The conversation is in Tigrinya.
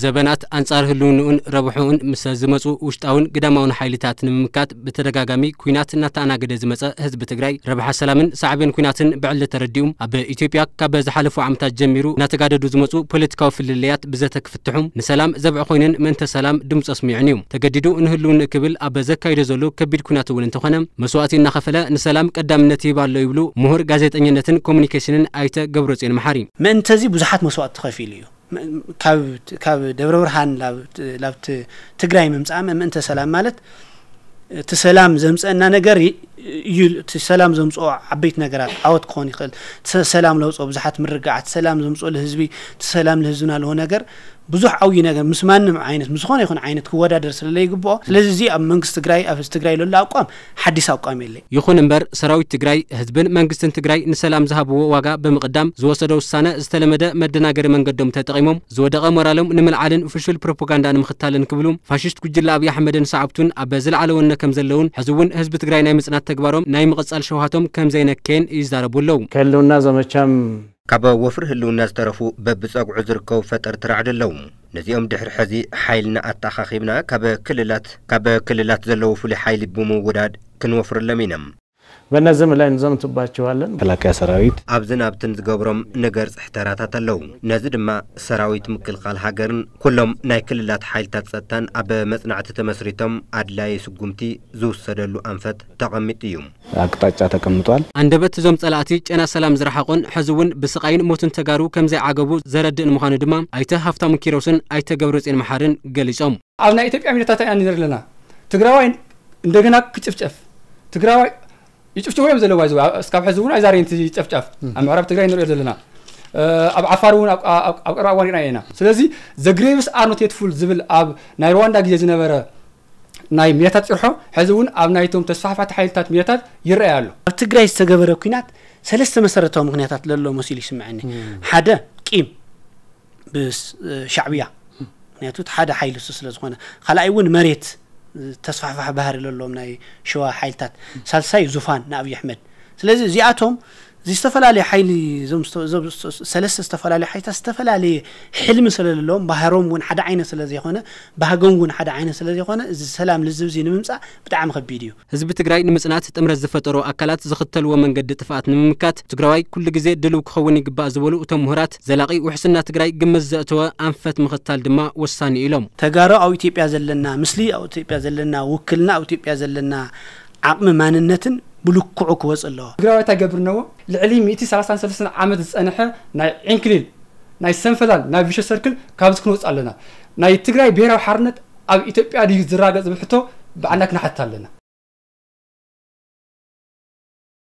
ዘበናት ኣንጻር ህልውንኡን ረብሕኡን ምስ ዝመጹ ውሽጣውን ግዳማውን ሓይልታት ንምምካት ብተደጋጋሚ ኲናት እናተኣናገደ ዝመጸ ህዝቢ ትግራይ፣ ረብሓ ሰላምን ሳዕቤን ኲናትን ብዕሊ ተረዲኡ፣ ኣብ ኢትዮጵያ ካብ ዝሓለፉ ዓመታት ጀሚሩ እናተጋደዱ ዝመጹ ፖለቲካዊ ፍልልያት ብዘተ ክፍትሑ፣ ንሰላም ዘብዒ ኮይንን ምእንተ ሰላም ድምጹ ኣስሚዑን እዩ። ተገዲዱ ንህልውንኡ ክብል ኣብ ዘካይዶ ዘሎ ከቢድ ኲናት እውን እንተኾነ፣ መስዋእቲ እናኸፈለ ንሰላም ቀዳምነት ይህብ ኣሎ ይብሉ ምሁር ጋዜጠኝነትን ኮሙኒኬሽንን ኣይተ ገብረጽዮን መሓሪ። ምእንተዚ ብዙሓት መስዋእቲ ተኸፊሉ እዩ። ም-፣ ካብ፣ ካብ ደብረ ብርሃን ላብ፣ ላብ ት-፣ ትግራይ ምምጻእ ምእንተ ሰላም ማለት፣ እቲ ሰላም ዘምጸአና ነገር ይ-፣ እዩ፣ እቲ ሰላም ዘምጽኦ ዓበይቲ ነገራት ዓወት ክኾን ይኽእል። እቲ ሰ-፣ ሰላም ለውጽኦ ብዙሓት ምርግጋዓት፣ ሰላም ዘምጽኦ ለህዝቢ፣ እቲ ሰላም ለህዝብና ለሆ ነገር ብዙሕ ዓብዪ ነገር ምስ ማንም ዓይነት፣ ምስ ዝኾነ ይኹን ዓይነት ክወዳደር ስለ ለይግብኦ፣ ስለዚ እዚ ኣብ መንግስቲ ትግራይ፣ ኣብ ህዝቢ ትግራይ ለሎ ኣቋም ሓዲስ ኣቋም የለ። ይኹን እምበር፣ ሰራዊት ትግራይ፣ ህዝብን መንግስትን ትግራይ ንሰላም ዝሃብዎ ዋጋ ብምቕዳም ዝወሰዶ ውሳነ ዝተለመደ መደናገሪ መንገዶም ተጠቒሞም ዝወደቐ ሞራሎም ንምልዓልን ፍሹል ፕሮፓጋንዳ ንምኽታልን ክብሉ ፋሽስት ጉጅለ ኣብይ ኣሕመድን ሰዓብቱን ኣብ ዝለዓለ ወነ ከም ዘለውን ሕዚ እውን ህዝቢ ትግራይ ናይ ምጽናት ተግባሮም ናይ ምቕጻል ሸውሃቶም ከም ዘይነከየን ይዛረቡ ኣለዉ። ከህልውና ዘመቻም ካብ ወፍሪ ህልውና ዝተረፉ በብጸግዑ ዝርከቡ ፈጠርቲ ራዕዲ ኣለዉ። ነዚኦም ድሕሪ ሕዚ ሓይልና ኣተኣኻኺብና ካብ ክልላት፣ ካብ ክልላት ዘለዉ ፍሉይ ሓይሊ ብምውዳድ ክንወፍረሎም ኢና። በእነዚህም ላይ እንዘምትባቸዋለን። መከላከያ ሰራዊት ኣብዝን ኣብትን ዝገብሮም ንገርጽሕ ተራታት ኣለዉ። ነዚ ድማ ሰራዊት ምክልኻል ሃገርን ኩሎም ናይ ክልላት ሓይልታት ጸጥታን ኣብ መጽናዕቲ ተመስሪቶም ኣድላዪ ስጉምቲ ዝውሰደሉ ኣንፈት ተቐሚጡ እዩ። ኣቅጣጫ ተቀምጧል። ኣንደበት እዞም ጸላእቲ ጨና ሰላም ዝረሓቑን ሕዚ እውን ብስቓይን ሞትን ተጋሩ ከም ዘይዓገቡ ዘረድእ ንምዃኑ ድማ ኣይተ ሃፍታሙ ኪሮስን ኣይተ ገብረጽዮን መሓርን ገሊጾም። ኣብ ናይ ኢትዮጵያ ሚድያታት ኢና ንርኢ ዘለና። ትግራዋይ እንደገና ክጭፍጨፍ፣ ትግራዋይ ይጭፍጭፉ እዮም ዘለዉ። ይዘው እስካብ ሕዚ እውን ኣይዛረየን እቲ ጨፍጫፍ። ኣብ ምዕራብ ትግራይ ንሪኦ ዘለና፣ እ፣ ኣብ ዓፋር እውን ኣብ፣ ኣብ፣ ኣብ ቀረባ እዋን ርኢና ኢና። ስለዚ the graves are not yet full ዝብል ኣብ ናይ ሩዋንዳ ግዜ ዝነበረ ናይ ሚድያታት ጭርሖ ሕዚ እውን ኣብ ናይቶም ተስፋሕፋሕቲ ሓይልታት ሚድያታት ይረኣይ ኣሎ። ኣብ ትግራይ ዝተገበረ ኲናት ሰለስተ መሰረታዊ ምኽንያታት ለሎ መሲሉ ይስምዐኒ። ሓደ ቂም ብስ-፣ ሻዕብያ፣ ምኽንያቱ እቲ ሓደ ሓይሊ እሱ ስለ ዝኾነ፣ ካልኣይ እውን መሬት፣ ተስፋሕፋሕ ባህሪ ለለዎም ናይ ሸዋ ሓይልታት፣ ሳልሳይ ዙፋን ንኣብይ ኣሕመድ። ስለዚ እዚኣቶም እዚ ዝተፈላለየ ሓይሊ፣ እዞም ዝተ-፣ እዞም ዝተ-፣ ሰለስተ ዝተፈላለዩ ሓይልታት ዝተፈላለየ ሕልሚ ስለ ዘለዎም፣ ባህሮም እውን ሓደ ዓይነት ስለ ዘይኮነ፣ ባህጎም እውን ሓደ ዓይነት ስለ ዘይኮነ፣ እዚ ሰላም ልዝብ እዚ ንምምጻእ ብጣዕሚ ከቢድ እዩ። ህዝቢ ትግራይ ንምጽናት ጥምረት ዝፈጠሩ ኣካላት ዝኽተልዎ መንገዲ ጥፍኣት ንምምካት፣ ትግራዋይ ኩሉ ግዜ ድልው ክኸውን ይግባእ ዝበሉ እቶም ምሁራት፣ ዘላቒ ውሕስና ትግራይ ግምት ዘእተወ ኣንፈት ምኽታል ድማ ወሳኒ ኢሎም። ተጋሩ ኣብ ኢትዮጵያ ዘለና ምስሊ፣ ኣብ ኢትዮጵያ ዘለና ውክልና፣ ኣብ ኢትዮጵያ ዘለና ዓቕሚ ማንነትን ብልክዑ ክወጽእ ኣለዎ። ትግራዋይ እንታይ ገብር ነዎ? ልዕሊ ሚእቲ ሰላሳን ሰለስተን ዓመት ዝጸንሐ ናይ ዕንክሊል፣ ናይ ሰንፈላል፣ ናይ ቪሸስ ሰርክል ካብዚ ክንወጽእ ኣለና። ናይ ትግራይ ብሄራዊ ሓርነት ኣብ ኢትዮጵያ ድዩ ዝረጋገጽ ዝብል ሕቶ ብዓና ክነሓትት ኣለና።